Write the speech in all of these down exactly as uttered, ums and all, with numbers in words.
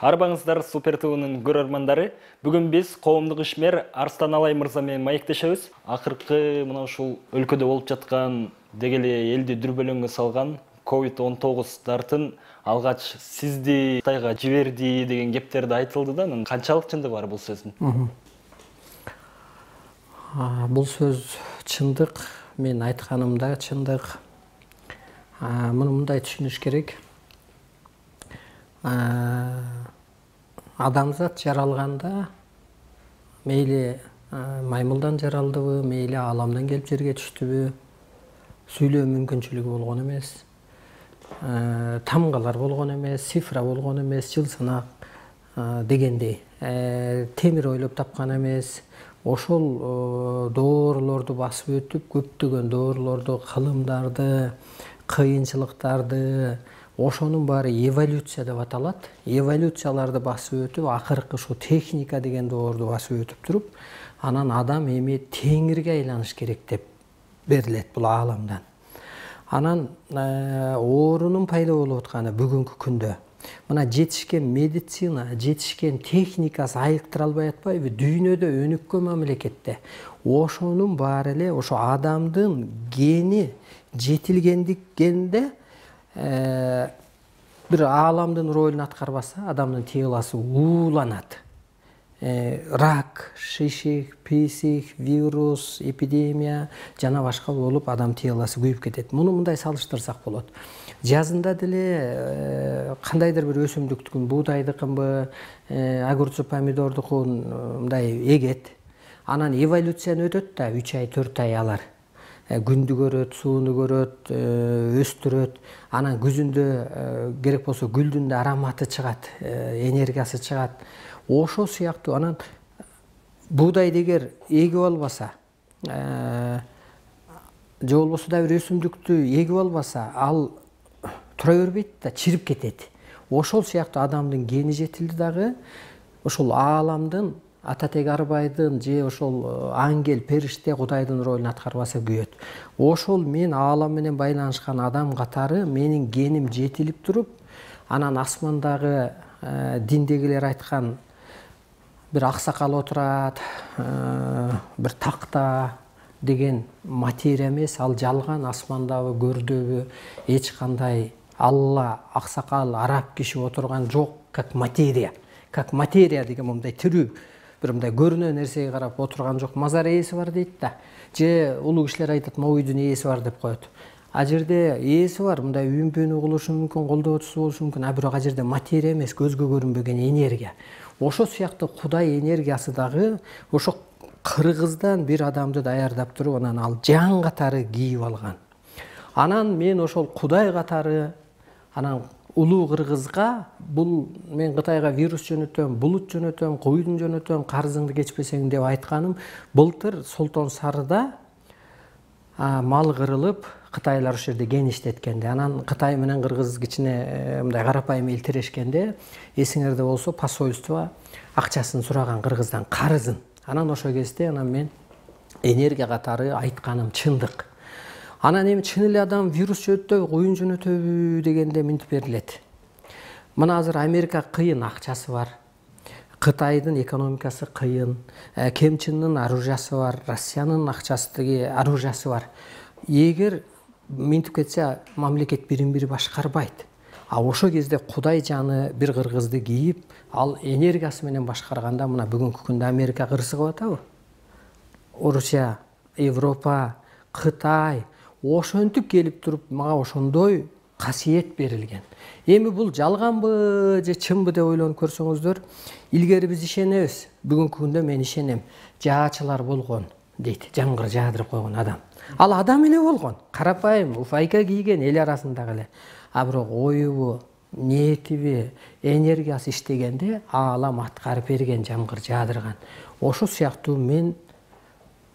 Арбаңыздар Супер ТВнын көрөрмандары. Бүгүн биз коомдук ишмер Арстан Алай мырза менен маектешебиз. Акыркы мына ушул өлкөдө болуп жаткан деги эле элди дүрбөлөңгө салган ковид он тогуз дартын алгач сизди Кытайга жиберди деген кептерди айтылды да, анын канчалык чындыгы бар бул сөздүн? Бул сөз чындык, мен айтканым да чындык. Муну мындай түшүнүш керек. Адамзат жаралганда мейли маймылдан жаралдыбы, мейли ааламдан келип жерге түштүбү, сүйлөө мүмкүнчүлүгү болгон эмес, тамгалар болгон эмес, цифра болгон эмес, жыл санак дегендей темир ойлоп тапкан эмес. Ошол доорлорду басып өтүп, көптөгөн доорлорду, кылымдарды, кыйынчылыктарды, ошонун баары эволюция деп аталат. Эволюцияларды басып өтүп, акыркы ушу техника деген доорду басып өтүп туруп, анан адам эми теңирге айланыш керек деп берилет бул ааламдан. Анан оорунун пайда болуп атканы бүгүнкү күндө мына жетишкен медицина, жетишкен техникасы айыктыра албай атпайбы? Дүйнөдө өнүккөн мамлекетте ошонун баары эле ошо адамдын гени жетилгендикенде бир ааламдын ролун аткарбаса, адамдын ТЛАсы ууланат. Рак, шишик, писик, вирус, эпидемия жана башка болуп адам ТЛАсы күйүп кетет. Муну мындай салыштырсак болот. Жазында деле кандайдыр бир өсүмдүктүкүн, буудайдыкынбы, огурчу помидордукун мындай эгет. Анан эволюцияны өтөт да, үч ай, төрт ай алар. Күндү көрөт, сууну көрөт, өстүрөт. Анан күзүндө керек болсо гүлдүн да ароматы чыгат, энергиясы чыгат. Ошол сыяктуу анан буудайды эгер эгип албаса, же болбосо да бир өсүмдүктү эгип албаса, ал тура бербейт да, чирип кетет. Ошол сыяктуу адамдын гени жетилди дагы ошол ааламдын ата теги арбайдын же ошол ангел, периште, Кудайдын ролун аткарбаса күйөт. Ошол мен аалам менен байланышкан адам катары менин геним жетилип туруп, анан асмандагы диндегилер айткан бир аксакал отурат, бир такта деген материя эмес, ал жалган, асмандабы, көрдөбү эч кандай Алла, аксакал, араб киши отурган жок, как материя. Как материя деген мындай тирүү, бир мындай көрүнө нерсеге карап отурган жок, мазар ээси бар дейт да. Же улуу кишилер айтат, моюдун ээси бар деп коет. А жерде ээси бар, мындай үйүмпөнүү кылышы мүмкүн, колдоочусу болушу мүмкүн, а бирок а жерде материя эмес, көзгө көрүнбөгөн энергия. Ошол сыяктуу Кудай энергиясы дагы ошо кыргыздан бир адамды даярдап туруп, анан ал жан катары кийип алган. Анан мен ошол Кудай катары, анан улуу кыргызга бул мен Кытайга вирус жөнөтөм, булут жөнөтөм, куйдун жөнөтөм, карызыңды кечпесең деп айтканым, былтыр Солтон Сарыда мал кырылып, кытайлар ошол жерде кен иштеткенде, анан Кытай менен кыргыз кичине мындай карапайым эл тирешкенде, эсиңерде болсо посольство акчасын сураган кыргыздан, карызын. Анан ошол кезде анан мен энергия катары айтканым чындык. Анан эми чын эле адам вирус жөнөтөбү, куюн жөнөтөбү дегенде минтип берилет. Мына азыр Америка кыйын, акчасы бар. Кытайдын экономикасы кыйын, Ким Чен Ын оружиясы бар, Россиянын акчасы, оружиясы бар. Эгер минтип кетсе, мамлекет бирин-бири башкарбайт. А ошол кезде Кудай жаны бир кыргызды кийип, ал энергиясы менен башкарганда, мына бүгүнкү күндө Америка кырсыгып атабы? Орусия, Европа, Кытай ошентип келип туруп, мага ошондой касиет берилген. Эми бул жалганбы же чынбы деп ойлонуп көрсөңүздөр, илгери биз ишенебиз, бүгүнкү күндө мен ишенем. Жаачылар болгон дейт, жамгыр жаадырып койгон адам. Ал адам эле болгон, карапайым, уфайка кийген эл арасындагы эле. А бирок оюбу, ниетиби, энергиясы иштегенде аалам аткарып берген, жамгыр жаадырган. Ошол сыяктуу мен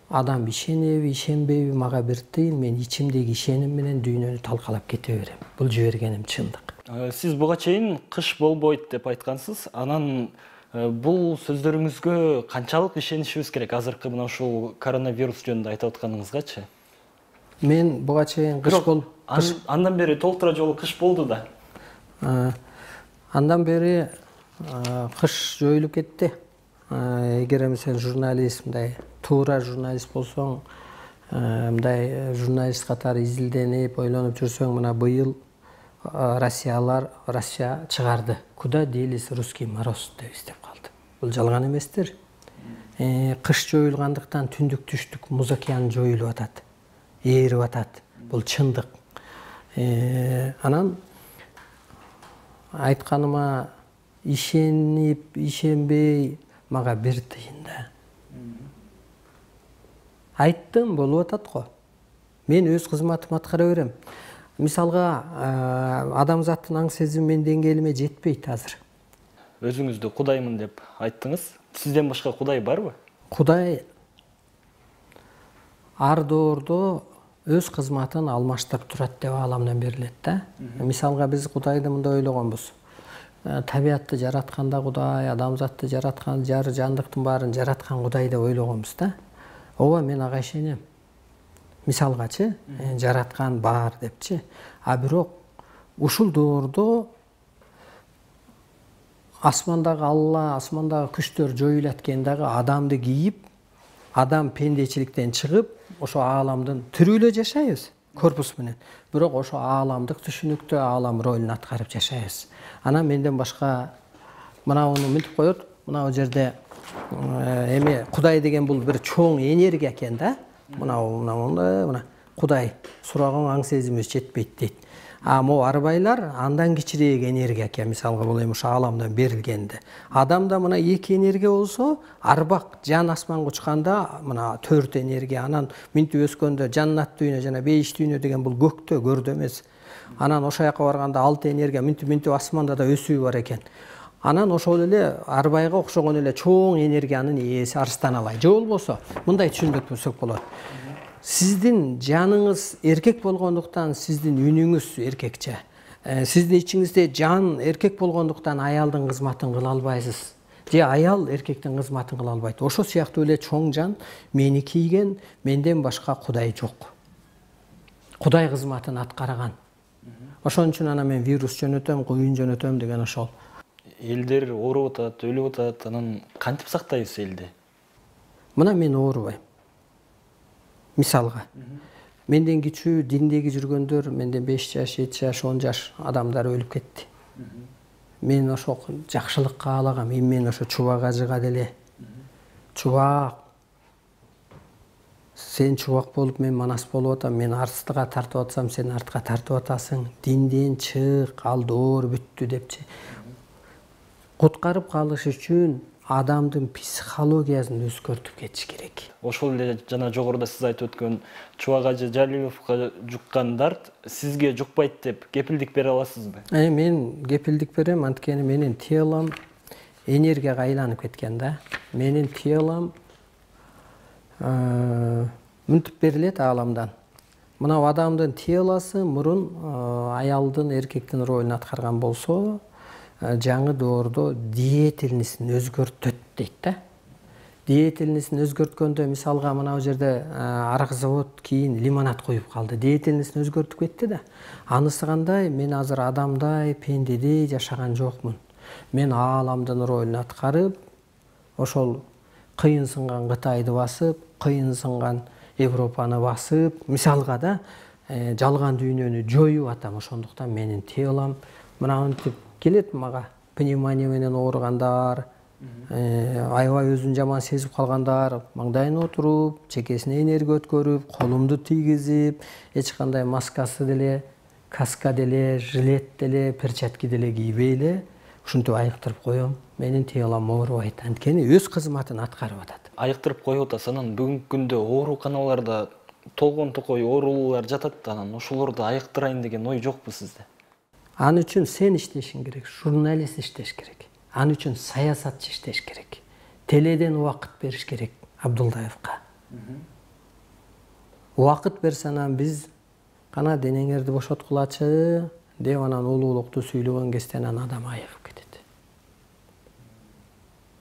адам ишенеби, ишенбейби мага бир тыйын, мен ичимдеги ишеним менен дүйнөнү талкалап кете берем. Бул жибергеним чындык. Сиз буга чейин кыш болбойт деп айткансыз. Анан бул сөздөрүңүзгө канчалык ишенишибиз керек? Азыркы мына ушул коронавирус жөнүндө айтып атканыңызгачы? Мен буга чейин кыш бол Андан бери толтура жолу кыш болду да. Андан бери кыш жоюлуп кетти. Эгер сен журналист, мындай туура журналист болсоң, мындай журналист катары изилденип, ойлонуп жүрсөң, мына быйыл Россиялар Россия чыгарды. Куда делись русский мороз деп издеп калды. Бул жалган эместир. Кыш жоюлгандыктан түндүк түштүк Муз океаны жоюлуп атат, ээрип атат. Бул чындык. Анан айтканыма ишенип, ишенбей мага бир тыйын да. Айттым, болуп атат го. Мен өз кызматымды аткара берем. Мисалга, адамзаттын аң сезими менин деңгээлиме жетпейт азыр. Өзүңүздү Кудаймын деп айттыңыз. Сизден башка Кудай барбы? Кудай ар доордо өз кызматын алмаштырып турат деп ааламдан берилет да. Мисалга биз Кудайды мындай ойлогонбуз. Табиатты жаратканда Кудай, адамзатты жараткан, жар жандыктын баарын жараткан Кудай деп ойлогонбуз да. Ооба, мен ага ишенем. Мисалгачы, жараткан бар депчи. А бирок ушул доордо асмандагы Алла, асмандагы күчтөр жоюлат экен дагы адамды кийип, адам пендечиликтен чыгып, ошо ааламдын тирүүлө жашайбыз корпус менен. Бирок ошо ааламдык түшүнүктө аалам ролун аткарып жашайбыз. Анан менден башка мынауну мынтип коет, мына жерде эме Кудай деген бул бир чоң энергия экен да. Мына мына мына Кудай сураган аң сезимибиз жетпейт дейт. А могу арбайлар андан кичирээк энергия экен, мисалга бул эми ушу ааламдан берилгенде. Адамда мына эки энергия болсо, арбак жан асманга учканда мына төрт энергия, анан минтип өскөндө жаннат дүйнө жана бейиш дүйнө деген бул көктө, көрдө эмес. Анан ошол жака барганда алты энергия минтип минтип асманда да өсүү бар экен. Анан ошол эле арбайга окшогон эле чоң энергиянын ээси Арстан Алай. Же болбосо мындай түшүндүк көрсөк болот. Сиздин жаныңыз эркек болгондуктан сиздин үнүңүз эркекче. Сиздин ичиңизде жан эркек болгондуктан аялдын кызматын кыла албайсыз. Же аял эркектин кызматын кыла албайт. Ошо сыяктуу эле чоң жан мени кийген, менден башка Кудай жок. Кудай кызматын аткарган. Ошон үчүн ана мен вирус жөнөтөм, куюн жөнөтөм деген ошол. Элдер ооруп атат, өлүп атат, анан кантип сактайбыз элди? Мына мен оорубайм. Мисалга, менден кичүү диндеги жүргөндөр, менден беш жаш, жети жаш, он жаш адамдар өлүп кетти. Мен ошо жакшылык каалагам, мен ошо чубак ажыга деле. Чубак. Сен чубак болуп, мен манас болуп атам, мен арстыга тартып атсам, сен артка тартып атасың. Динден чык, ал доор бүттү депчи. Куткарып калыш үчүн адамдын психологиясын өзгөртүп кетиш керек. Ошол эле жана жогоруда сиз айтып өткөн Чубак Ажы Жалиловго жуккан дарт сизге жукпайт деп кепилдик бере аласызбы? Э, мен кепилдик берем, анткени менин телом энергияга айланып кеткен да. Менин телом мынтип берилет ааламдан. Мына адамдын телосы мурун аялдын, эркектин ролун аткарган болсо, жаңы доордо деятельностун өзгөртөт дейт да. Деятельностун өзгөрткөндө, мисалга мына бу жерде арак завод кийин лимонад коюп калды. Деятельностун өзгөртүп кетти да. Анысы кандай? Мен азыр адамдай, пендедей жашаган жокмун. Мен ааламдын ролун аткарып, ошол кыйын сынган Кытайды басып, кыйын сынган Европаны басып, мисалга да жалган дүйнөнү жоюп атам. Ошондуктан менин телом мына мынтип келет мага. Пневмония менен ооругандар, аябай өзүн жаман сезип калгандар, маңдайына отуруп, чекесине энергия өткөрүп, колумду тийгизип, эч кандай маскасы деле, каска деле, жилет деле, перчатки деле кийбей эле ушинтип айыктырып коем. Менин телом оорубайт, анткени өз кызматын аткарып атат. Айыктырып коюп атасыз, анан бүгүнкү күндө ооруканаларда толгон токой оорулуулар жатат, анан ошолорду айыктырайын деген ой жокпу сизде? Аны үчүн сен иштешиң керек, журналист иштеш керек. Аны үчүн саясатчы иштеш керек. Теледен убакыт бериш керек Абдулдаевка. Убакыт берсе анан биз кана денеңерди бошоткулачы деп анан улуулукту сүйлөгөн кезде анан адам айыгып кетет.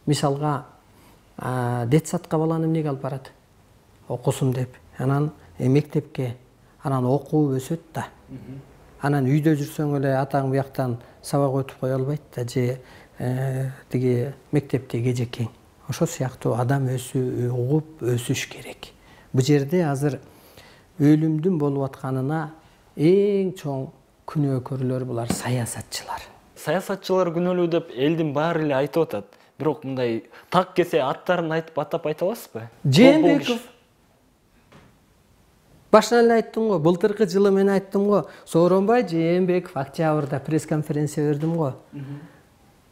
Мисалга, детсадка баланы эмнеге алып барат? Окусун деп. Анан мектепке, анан окууп өсөт да. Анан үйдө жүрсөң эле атаң бияктан сабак өтүп кое албайт да, же тиги мектепте кежекең. Ошо сыяктуу адам өсү угуп өсүш керек. Бул жерде азыр өлүмдүн болуп атканына эң чоң күнөөкөрлөр булар саясатчылар. Саясатчылар күнөөлүү деп элдин баары эле айтып атат. Бирок мындай так кесе аттарын айтып атап айта аласызбы? Жээнбеков. Башынан эле айттым го, былтыркы жылы мен айттым го, Сооронбай Жээнбеков октябрда пресс-конференция бердим го.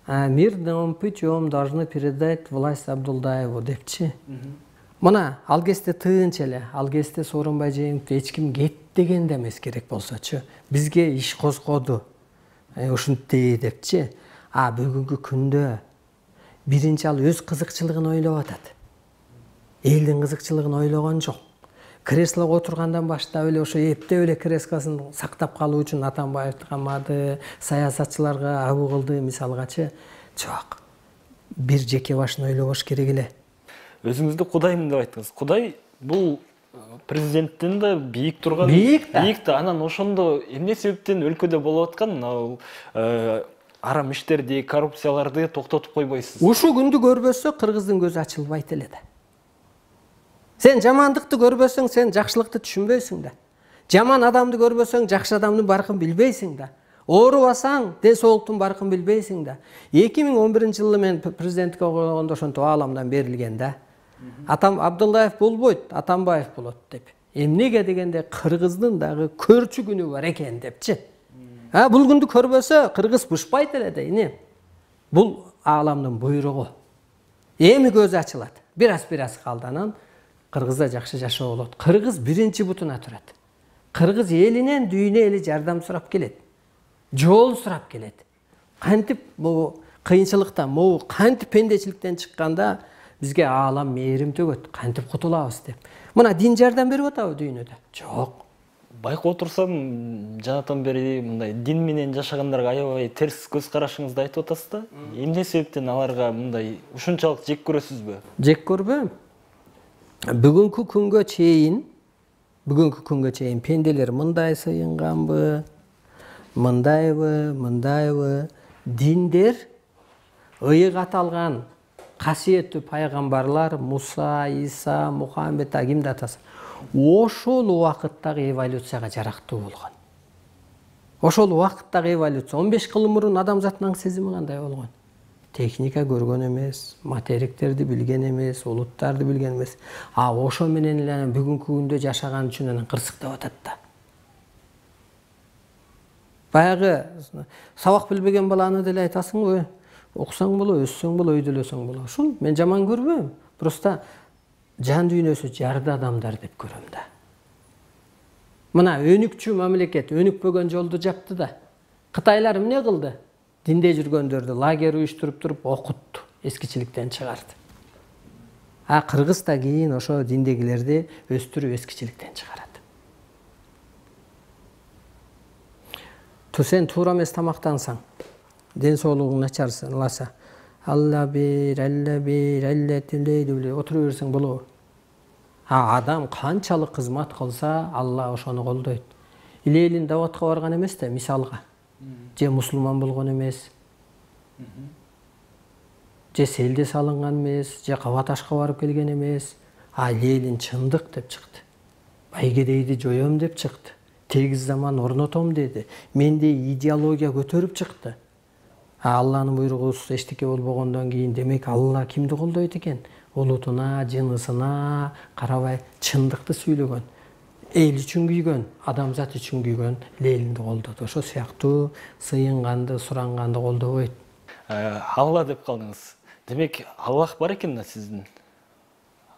Мирным путем должны передать власть Абдулдаеву депчи. Мына ал кезде тыынч эле, ал кезде Сооронбай Жээнбековду эч ким кет деген да эмес керек болсочу. Бизге иш козгоду. Ушинтип депчи. А бүгүнкү күндө биринчи ал өз кызыкчылыгын ойлоп атат. Элдин кызыкчылыгын ойлогон жок. Креслого отургандан баштап эле ошо эптеп эле креслосын сактап калуу үчүн Атамбаевди камады, саясатчыларга абу кылды мисалгачы. Жок. Бир жеке башын ойлобош керек эле. Өзүңүздү Кудаймын деп айттыңыз. Кудай бул президенттен да бийик турган. Бийик да. Бийик да. Анан ошондо эмне себептен өлкөдө болуп аткан арам иштерди, коррупцияларды токтотуп койбойсуз? Ушул күндү көрбөсө кыргыздын көзү ачылбайт эле да. Сен жамандыкты көрбөсөң, сен жакшылыкты түшүнбөйсүң да. Жаман адамды көрбөсөң, жакшы адамдын баркын билбейсиң да. Оорубасаң, ден соолуктун баркын билбейсиң да. эки миң он биринчи жылы мен президенттикке койгондо ошентип ааламдан берилген да. Атам Абдулдаев болбойт, Атамбаев болот деп. Эмнеге дегенде кыргыздын дагы көрчү күнү бар экен депчи. А бул күндү көрбөсө кыргыз бышпайт эле дейни. Бул ааламдын буйругу. Эми көзү ачылат. Бираз-бираз калды, анан кыргызда жакшы жашоо болот. Кыргыз биринчи бутуна турат. Кыргыз элинен дүйнө эли жардам сурап келет. Жол сурап келет. Кантип бул кыйынчылыктан, могу кантип пендечиликтен чыкканда бизге аалам мээрим төгөт, кантип кутулабыз деп. Мына дин жардам берип атабы дүйнөдө? Жок. Байкап отурсам, жанатан бери мындай дин менен жашагандарга аябай терс көз карашыңызды айтып атасыз да. Эмне себептен аларга мындай ушунчалык жек көрөсүзбү? Жек көрбөйм. Бүгүнкү күнгө чейин, бүгүнкү күнгө чейин пенделер мындай сыйынганбы, мындайбы, мындайбы, диндер ыйык аталган касиеттүү пайгамбарлар Муса, Иса, Мухаммед кимди атасы. Ошол убакыттагы эволюцияга жарактуу болгон. Ошол убакыттагы эволюция он беш кыл мурун адамзаттын сезими кандай болгон? Техника көргөн эмес, материктерди билген эмес, улуттарды билген эмес. А ошо менен эле бүгүнкү күндө жашаган үчүн анан кырсыктап атат да. Баягы сабак билбеген баланы деле айтасыңбы? Окусаң боло, өссөң боло, өйдөлөсөң боло. Ушул мен жаман көрбөйм. Просто жан дүйнөсү жарды адамдар деп көрөм да. Мына өнүкчү мамлекет өнүкпөгөн жолду жапты да. Кытайлар эмне кылды? Динде жүргөндөрдү лагерь уюштуруп туруп окутту, эскичиликтен чыгарды. А кыргыз да кийин ошо диндегилерди өстүрүп эскичиликтен чыгарат. Сен туура эмес тамактансаң, ден соолугуң начарласа, Алла бир, Алла бир, Алла тилейди, отура берсең болобу? А адам канчалык кызмат кылса, Алла ошону колдойт. Илелин даватка барган эмес да, мисалга. Же мусулман болгон эмес. Же селде салынган эмес, же Кабаташка барып келген эмес. А Ленин чындык деп чыкты. Байгедейди жоём деп чыкты. Тегиз заман орнотом деди. Менде идеология көтөрүп чыкты. А Алланын буйругусуз эчтеке болбогондон кийин демек Алла кимди колдойт экен? Улутуна, жынысына карабай чындыкты сүйлөгөн. Эл үчүн күйгөн, адамзат үчүн күйгөн Ленинди колдоду. Ошо сыяктуу сыйынганды, суранганды колдобойт. Алла деп калдыңыз. Демек Аллах бар экен да сиздин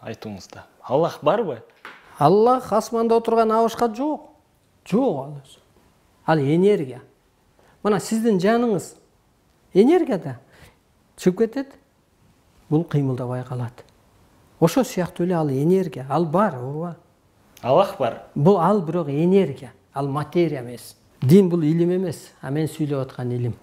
айтууңузда. Аллах барбы? Аллах асманда отурган абышка жок. Жок ал. Ал энергия. Мына сиздин жаныңыз энергияда чыгып кетет. Бул кыймылдабай калат. Ошо сыяктуу эле ал энергия, ал бар, ооба. Аллах бар. Бул ал бирок энергия, ал материя эмес. Дин бул илим эмес, а мен сүйлөп аткан илим.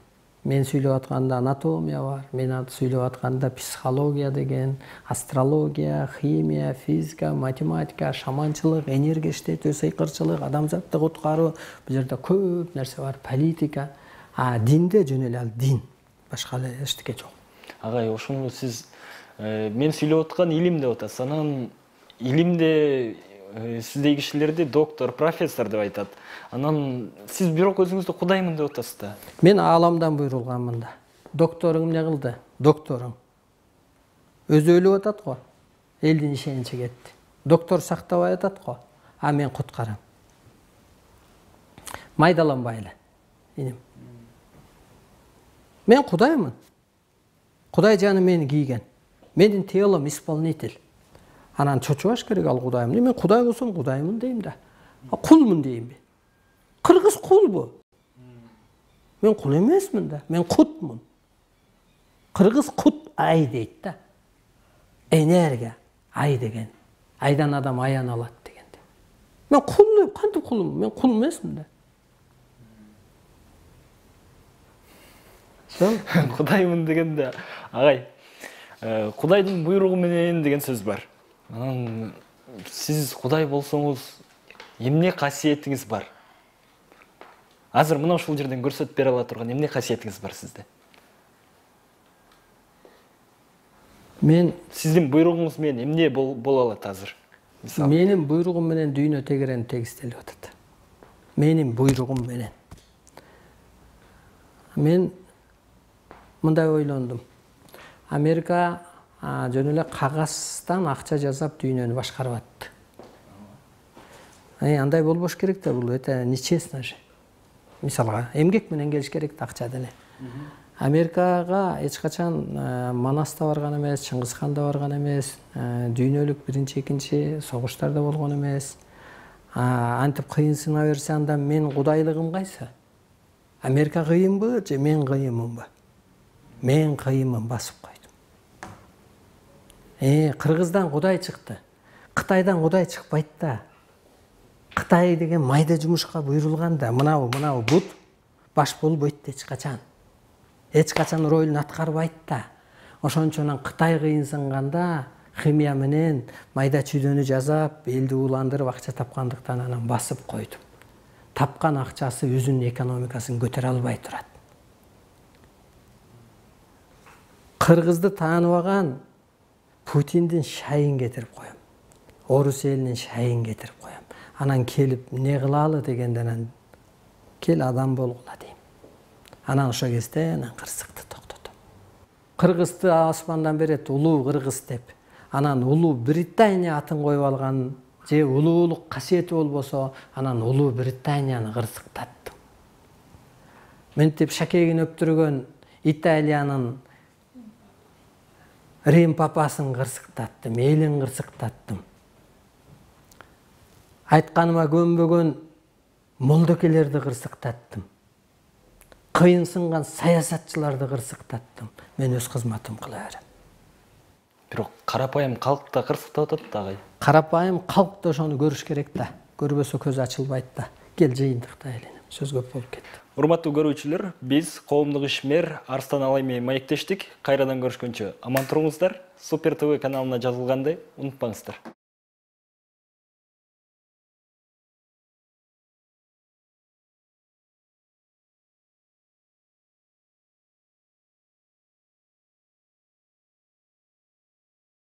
Мен сүйлөп атканда анатомия бар, мен сүйлөп атканда психология деген, астрология, химия, физика, математика, шаманчылык, энергия иштетүү, сыйкырчылык, адамзатты куткаруу, бул жерде көп нерсе бар, политика. А динде жөн эле ал дин, башка эле эчтеке жок. Агай, ошону сиз мен сүйлөп аткан илим деп атасыз. Анан илимде сиздей кишилерди доктор, профессор деп айтат. Анан сиз бирок өзүңүздү кудаймын деп атасыз да. Мен ааламдан буйрулганмын да. Докторуң эмне кылды? Докторуң. Өзү өлүп атат го. Элдин ишеничи кетти. Доктор сактабай атат го. А мен куткарам. Майдаланбай эле, иним. Мен кудаймын. Кудай жаны мени кийген. Менин телом исполнитель. Анан чочубаш керек ал кудайым. Мен кудай болсом кудаймын дейм да. Кулмун деймби? Кыргыз кулбу? Мен кул эмесмин да. Мен кутмун. Кыргыз кут ай дейт да. Энергия ай деген. Айдан адам аян алат дегенде. Мен кул, кантип кулмун? Мен кул эмесмин да. Кудаймын дегенде, агай, кудайдын буйругу менен деген сөз бар. Анан сиз кудай болсоңуз, эмне касиетиңиз бар? Азыр мына ушул жерден көрсөтүп бере ала турган эмне касиетиңиз бар сизде? Мен сиздин буйругуңуз менен эмне боло алат азыр? Менин буйругум менен дүйнө тегерени тегистелип атат. Менин буйругум менен. Мен мындай ойлондум. Америка жөн эле кагаздан акча жасап дүйнөнү башкарып атты. Андай болбош керек да, бул өтө нечестно же. Мисалга, эмгек менен келиш керек да, акча деле. Америкага эч качан Манас да барган эмес, Чыңгызхан да барган эмес, дүйнөлүк биринчи, экинчи согуштар да болгон эмес. Антип кыйынсына берсе, анда мен кудайлыгым кайсы? Америка кыйынбы же мен кыйынмынбы? Мен кыйынмын, басып койдум. Э, Кыргыздан кудай чыкты. Кытайдан кудай чыкпайт да. Кытай деген майда жумушка буйрулган да. Мынабу, мынабу бут баш болбойт да эч качан. Эч качан ролун аткарбайт да. Ошончон Кытай кыйынсынганда химия менен майда чүйдөнү жасап, элди ууландырып акча тапкандыктан анан басып койдум. Тапкан акчасы өзүнүн экономикасын көтөрө албай турат. Кыргызды тааныбаган Путиндин шайын кетирип коем. Орус элинин шайын кетирип коем. Анан келип не кылалы дегенден кел адам болгула дейм. Анан ошо кезде анан кырсыкты токтотом. Кыргызды асмандан берет улуу кыргыз деп. Анан улуу Британия атын коюп алган же улуулук касиети болбосо, анан улуу Британияны кырсыктаттым. Мынтип шакегин өптүргөн Италиянын Рим папасын кырсыктаттым, элин кырсыктаттым. Айтканыма көнбөгөн молдокелерди кырсыктаттым. Кыйынсынган саясатчыларды кырсыктаттым. Мен өз кызматым кыла берем. Бирок карапайым калк да кырсыктап атат да, агай. Карапайым калк да ошону көрүш керек да. Көрбөсө көз ачылбайт да. Кел жыйынтыктайлы. Сөз көп болуп кетти. Урматтуу көрүүчүлөр, биз коомдук ишмер Арстан Алай менен маектештик. Кайрадан көрүшкөнчө аман туруңуздар. Супер ТВ каналына жазылганды унутпаңыздар.